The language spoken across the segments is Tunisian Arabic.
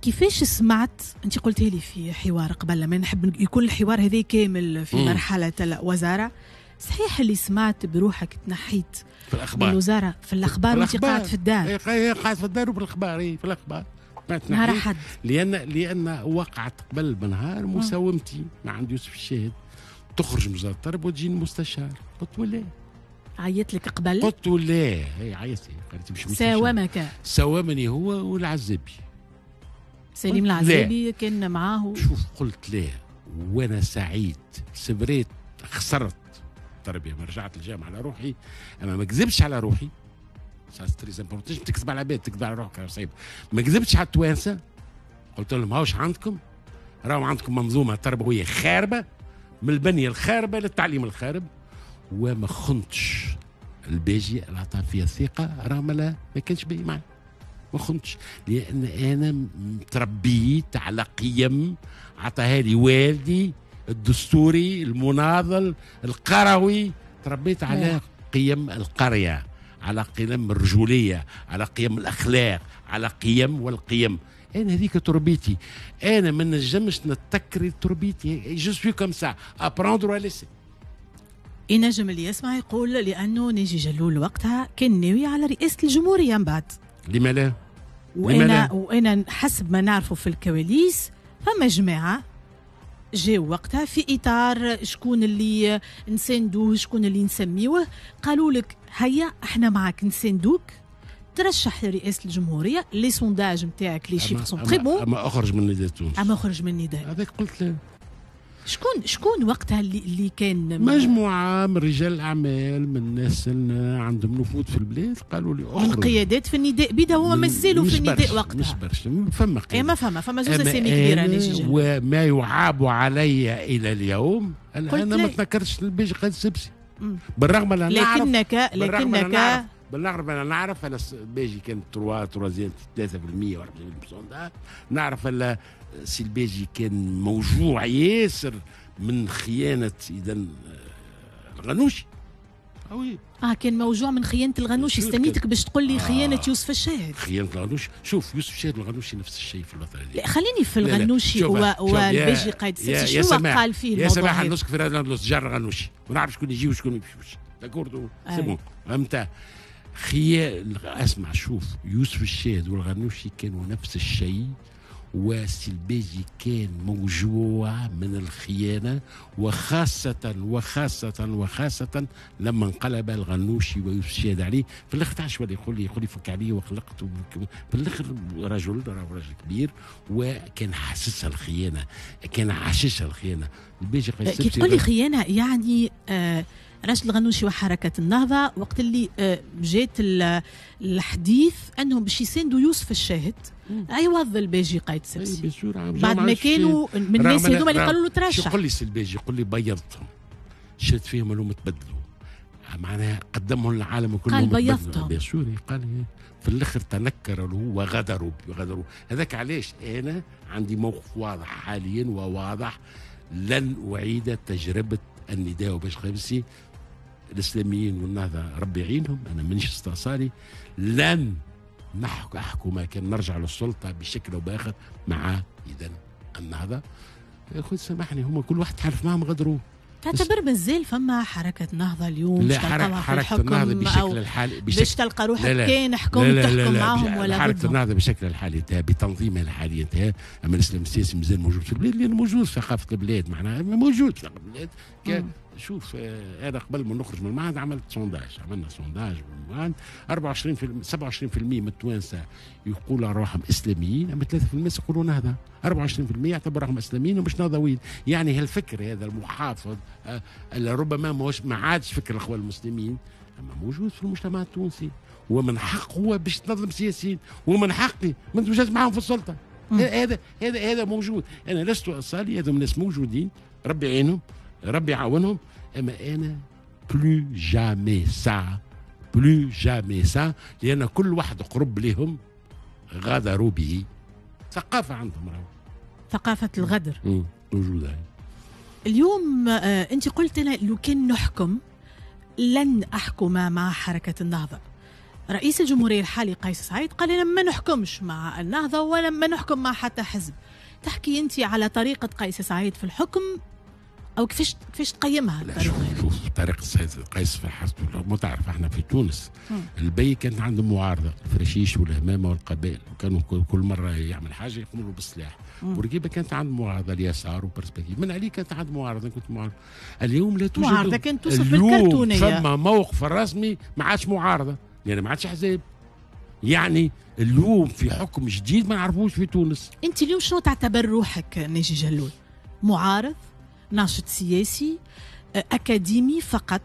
كيفاش سمعت؟ انت قلتي لي في حوار قبل، ما نحب يكون الحوار هذا كامل في مرحلة الوزاره. صحيح اللي سمعت بروحك تنحيت في الاخبار الوزارة في الاخبار وانت قاعد في الدار؟ قاعد في الدار وبالاخبار، في الاخبار نهار احد. لان وقعت قبل بنهار مساومتي مع عند يوسف الشاهد، تخرج من وزارة التربية وتجي المستشار. قلت له لا. عيط لك قبل؟ قلت له لا. هي عيطت لي، قالت مش مستشار. ساومك؟ ساومني هو والعزابي، سليم العزابي كان معاه. شوف، قلت لا وانا سعيد. سبريت خسرت التربيه، ما رجعت الجامعة على روحي، اما ما كذبتش على روحي. ça très important، تكذب على العباد، تكذب على روحك صعيب. ما كذبتش على التوانسه، قلت لهم هاوش عندكم، راهو عندكم منظومة تربوية خاربه، من البنية الخاربه للتعليم الخارب. وما خنتش الباجي اللي عطى فيها الثقه، راه ما كانش باهي معي، ما خنتش، لان انا تربيت على قيم عطاها لي والدي الدستوري المناضل القروي. تربيت على قيم القريه، على قيم الرجوليه، على قيم الاخلاق، على قيم والقيم. انا هذيك تربيتي، انا ما نجمش نتكري تربيتي. je suis comme ça، à prendre ou à laisser. ينجم اللي يسمع يقول لانه ناجي جلول وقتها كان ناوي على رئاسة الجمهورية من بعد. لما لا؟ وانا حسب ما نعرفه في الكواليس فما جماعة جاو وقتها في اطار شكون اللي نساندوه، شكون اللي نسميوه، قالوا لك هيا احنا معك نساندوك، ترشح لرئاسة الجمهوريه، les sondages نتاعك، les chiffres sont très bons. اما اخرج من نداء تونس. اما اخرج من نداء. هذاك قلت له. شكون وقتها اللي كان؟ مجموعة من رجال الاعمال، من الناس اللي عندهم نفوذ في البلاد، قالوا لي اخرج. من قيادات في النداء بدا، هو مازالوا في النداء وقتها. مش برشا، فما قيادات. ما فما زوز اسامي كبيره. وما يعاب علي الى اليوم انا ما تنكرتش الباجي قائد السبسي، بالرغم ان لكنك بالرغم انا نعرف انا الباجي كان 3 3% و 4%، نعرف ان سي الباجي كان موجوع ياسر من خيانة اذا الغنوشي. كان موجوع من خيانة الغنوشي. استنيتك باش تقول لي خيانة يوسف الشاهد. خيانة الغنوشي، شوف يوسف الشاهد والغنوشي نفس الشيء في الوطن. لا خليني في الغنوشي والباجي قائد السبسي، شنو قال فيه الموضوع؟ يا سماح نسك في راديو جار الغنوشي ونعرف شكون يجي وشكون ما يمشيوش. d'accord، c'est bon، فهمت؟ اسمع، شوف يوسف الشاهد والغنوشي كانوا نفس الشيء، وسي الباجي كان موجوع من الخيانة، وخاصة وخاصة وخاصة لما انقلب الغنوشي ويوسف الشاهد عليه في الآخر. تعرف ولا يقول لي فك عليه وخلقت في الآخر. رجل كبير وكان حاسسها الخيانة، كان عاششها الخيانة. الباجي كي تقول لي خيانة يعني راشد الغنوشي وحركة النهضة وقت اللي جات الحديث أنهم باش يساندوا يوسف الشاهد عوض الباجي قايد السبسي، بعد ما كانوا من الناس هذوما اللي قالوا له ترشح. شو قول لي سي الباجي؟ قول لي بيضتهم، شرت فيهم انهم تبدلوا، معناها قدمهم للعالم كلهم. قال بيضتهم، bien sûr. قال في الاخر تنكروا له وغدروا غدروا. هذاك علاش انا عندي موقف واضح حاليا وواضح، لن اعيد تجربه النداء وباش خمسي. الاسلاميين والنهضه ربي يعينهم، انا مانيش استئصالي، لن احكم كان نرجع للسلطة بشكل او باخر مع اذا النهضة. يا اخوي سامحني، هم كل واحد حرف معهم غدروه. تعتبر مازال فما حركة نهضة اليوم؟ لا، حركة النهضة بشكل الحالي باش تلقى روحك كان حكم تحكم معهم ولا حركة النهضة بشكل الحالي انتهى، بتنظيمها الحالي انتهى. اما الاسلام السياسي مازال موجود في البلاد، لانه موجود في ثقافة البلاد، معناها موجود في ثقافة البلاد. شوف انا قبل ما نخرج من المعهد عملت sondage، عملنا sondage من المعهد، 27% من التوانسة يقولوا روحهم اسلاميين، اما 3% يقولوا نهضة. 24% يعتبروا روحهم اسلاميين ومش نهضويين. يعني هالفكر هذا المحافظ اللي ربما ما عادش فكر الاخوان المسلمين، اما موجود في المجتمع التونسي، ومن حقه هو باش تنظم سياسيين، ومن حقي ما نتوجدش معاهم في السلطة. هذا هذا هذا موجود. انا لست اصالي، هذو الناس موجودين، ربي يعينهم، ربي يعاونهم، اما انا plus jamais ça، plus jamais ça، لان كل واحد قرب لهم غدروا به. ثقافة عندهم راهو، ثقافة الغدر موجودة اليوم. انت قلت انا لو كان نحكم لن احكم مع حركة النهضه. رئيس الجمهورية الحالي قيس سعيد قال أنا ما نحكمش مع النهضة ولا ما نحكم مع حتى حزب. تحكي أنت على طريقة قيس سعيد في الحكم أو كيفاش تقيمها؟ لا شوف طريقة قيس في الحكم، ما تعرف احنا في تونس البي كانت عندهم معارضة، الفرشيش والهمامة والقبائل، وكانوا كل مرة يعمل حاجة يقوموا بالسلاح. بورقيبة كانت عنده معارضة اليسار و Perspectives، بن علي كانت عنده معارضة، كنت معارضة. اليوم لا توجد معارضة، كانت توصف بالكرتونية. فما موقف رسمي ما عادش معارضة، يعني ما عادش حزب. يعني اليوم في حكم جديد ما نعرفوش في تونس. انت اليوم شنو تعتبر روحك ناجي جلول؟ معارض، ناشط سياسي، أكاديمي فقط؟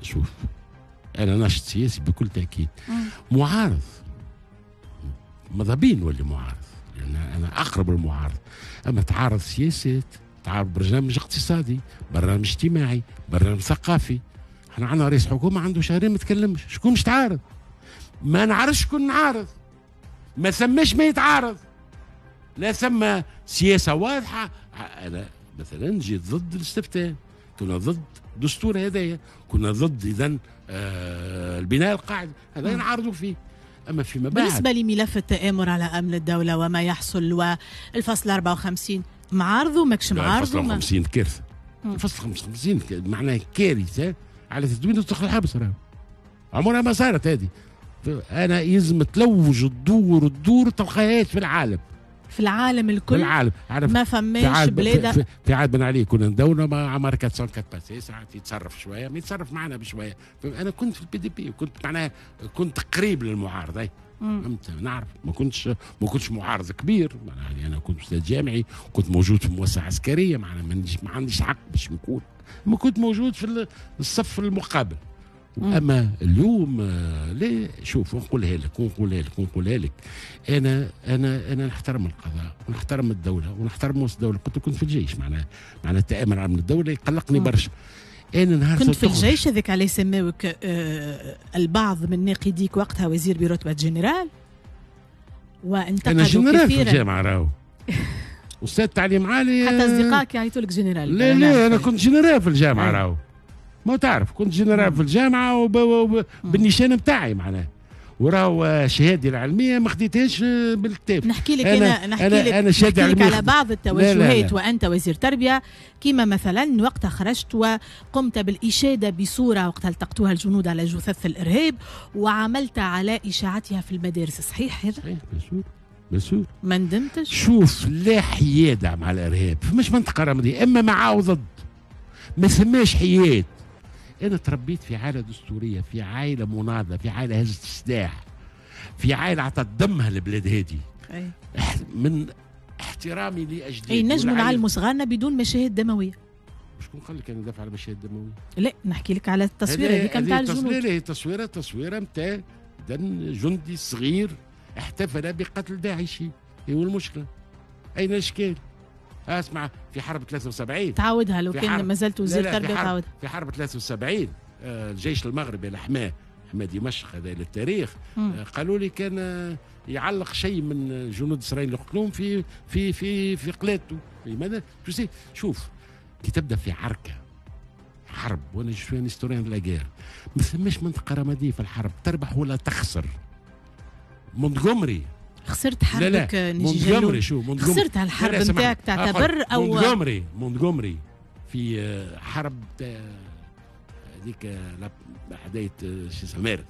شوف أنا ناشط سياسي بكل تأكيد. معارض ماذا بين نولي معارض، لأن أنا أقرب المعارض. أما تعارض سياسات، تعارض برنامج اقتصادي، برنامج اجتماعي، برنامج ثقافي. احنا عندنا رئيس حكومة عنده شهرين ما تكلمش، شكون مش تعارض؟ ما نعرفش شكون نعارض، ما ثماش ما يتعارض، لا ثم سياسة واضحة. أنا مثلا جيت ضد الاستفتاء، كنا ضد دستور هذايا، كنا ضد إذن البناء القاعدي، هذا نعارضوا فيه. أما فيما بعد بالنسبة لملف التآمر على أمن الدولة وما يحصل والفصل 54، معارضة ماكش معارضة؟ الفصل 54 كارثة. الفصل 55 معناه كارثة على تدوين تدخل الحبس، راهو عمرها ما صارت هذه. أنا يلزم تلوج الدور تلقاهاش في العالم، في العالم الكل، في العالم. ما فماش بلاد. في عهد بن علي كنا ندونا مع عمر 404 passé، ساعات يتصرف شوية، ما يتصرف معنا بشوية. انا كنت في ال PDP وكنت معناها كنت قريب للمعارضه، فهمت، نعرف ما كنتش معارض كبير، يعني انا كنت استاذ جامعي، كنت موجود في مؤسسة عسكرية، معناها ما عنديش حق باش نكون، ما كنت موجود في الصف المقابل. اما اليوم لا، شوف ونقولها لك ونقولها لك ونقولها لك، انا انا انا نحترم القضاء ونحترم الدولة ونحترم مؤسسة الدولة. كنت في الجيش، معناها التآمر على الدولة يقلقني برشا. انا نهار كنت في الجيش هذاك عليه سماوك البعض من ناقديك وقتها وزير برتبة جنرال، وانتقدوا انا جنرال كثيرا في الجامعة، راهو استاذ تعليم عالي، حتى اصدقائك يعيطوا لك جنرال. لا لا، انا كنت جنرال في الجامعة، راهو ما تعرف كنت جنرال في الجامعة وبالنيشان نتاعي معناها، وراهو شهادتي العلمية ما خديتهاش بالكتاب. نحكي لك انا نحكي لك على بعض التوجهات. لا لا لا. وانت وزير تربيه، كما مثلا وقتها خرجت وقمت بالاشاده بصورة وقتها التقطوها الجنود على جثث الارهاب وعملت على اشاعتها في المدارس، صحيح هذا؟ صحيح، bien sûr. ما ندمتش؟ شوف، لا حياده مع الارهاب، فماش منطقة رمادية، اما مع او ضد، ما ثماش حياد. أنا تربيت في عائلة دستورية، في عائلة مناضلة، في عائلة هزت السلاح، في عائلة عطت دمها البلاد هذه. من احترامي لأجدادي. أي نجم نعلموا صغارنا بدون مشاهد دموية. شكون قال لك أنا ندافع على مشاهد دموية؟ لا، نحكي لك على التصويرة هذيك نتاع الجنود. هذه تصويرة نتاع جندي صغير احتفل بقتل داعشي. هو المشكلة؟ أين الإشكال؟ اسمع، في حرب 73 تعاودها لو كان ما زلت وزير تربيه، تعاودها. في حرب 73 الجيش المغربي الحماه، حماه دمشق هذا للتاريخ، قالوا لي كان يعلق شيء من جنود اسرائيل اللي قتلوهم في في في في قلادته. لماذا؟ شوف كي تبدا في عركة حرب، وانا je suis un historien de la guerre، ما ثماش منطقة رمادية في الحرب، تربح ولا تخسر. مونتغومري خسرت حربك ناجي جلول، خسرت هالحرب نتاعك تعتبر او مونتغومري في حرب هذيك حدايه شو مارس،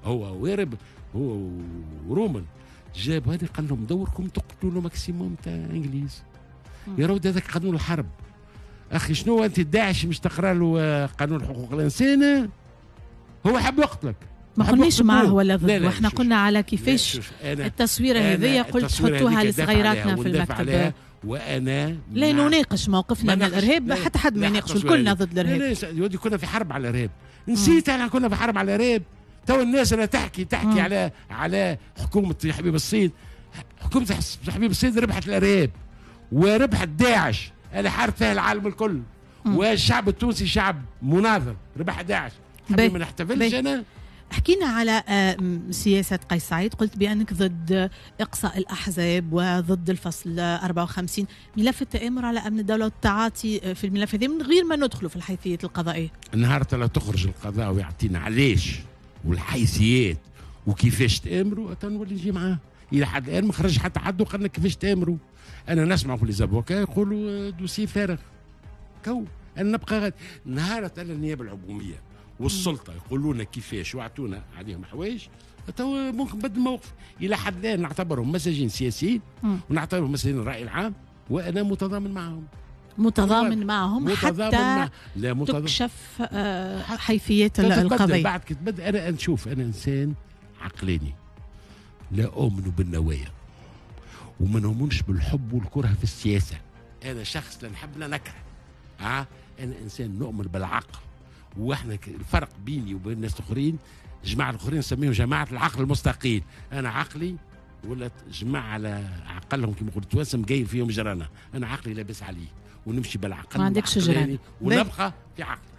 هو ويرب هو ورومل، جاب هذه قال لهم دوركم تقتلوا maximum تاع انجليز. يا رود هذاك قانون الحرب. اخي شنو انت داعش مش تقرا له قانون حقوق الانسان؟ هو حب يقتلك. ما قلناش معاه ولا ضد، واحنا قلنا على كيفاش التصويره هذيا قلت حطوها لصغيراتنا في المكتب. وانا لا نناقش موقفنا من الارهاب، حتى حد ما يناقش، كلنا ضد الارهاب. لا كنا في حرب على الارهاب، نسيت احنا كنا في حرب على الارهاب. تو الناس اللي تحكي على حكومة حبيب الصيد، حكومة حبيب الصيد ربحت الارهاب وربحت داعش اللي حارب فيها العالم الكل، والشعب التونسي شعب مناضل ربح داعش. ما نحتفلش انا. حكينا على سياسة قيس سعيد، قلت بأنك ضد إقصاء الأحزاب وضد الفصل 54، ملف التآمر على أمن الدولة والتعاطي في الملف هذا من غير ما ندخله في الحيثيات القضائية. النهار لا تخرج القضاء ويعطينا علاش والحيثيات وكيفاش تامروا نولي نجي معاه. الى حد الان ما خرج حتى حد وقال لك كيفاش تامروا. انا نسمع في les avocats يقولوا dossier فارغ كو. انا نبقى غاد نهار النيابة العمومية والسلطة يقولوا لنا كيفاش واعطونا عليهم حوايج، تو ممكن نبدل الموقف. الى حد الان نعتبرهم مساجين سياسيين ونعتبرهم مساجين الراي العام، وانا متضامن معهم. متضامن معهم متضامن حتى مع لا متضامن تكشف حيثيات القضية. بعد كتبدأ انا نشوف، انا انسان عقلاني لا اؤمن بالنوايا وما نؤمنش بالحب والكره في السياسة. انا شخص لا نحب لا نكره. انا انسان نؤمن بالعقل، واحنا الفرق بيني وبين الناس الاخرين، جماعة الاخرين نسميهم جماعة العقل المستقيل. انا عقلي ولا جماعة على عقلهم كما يقولوا التوانسة مقايل فيهم جرانه. انا عقلي لاباس عليه ونمشي بالعقل، ما عندكش جرانه، ونبقى في عقلي.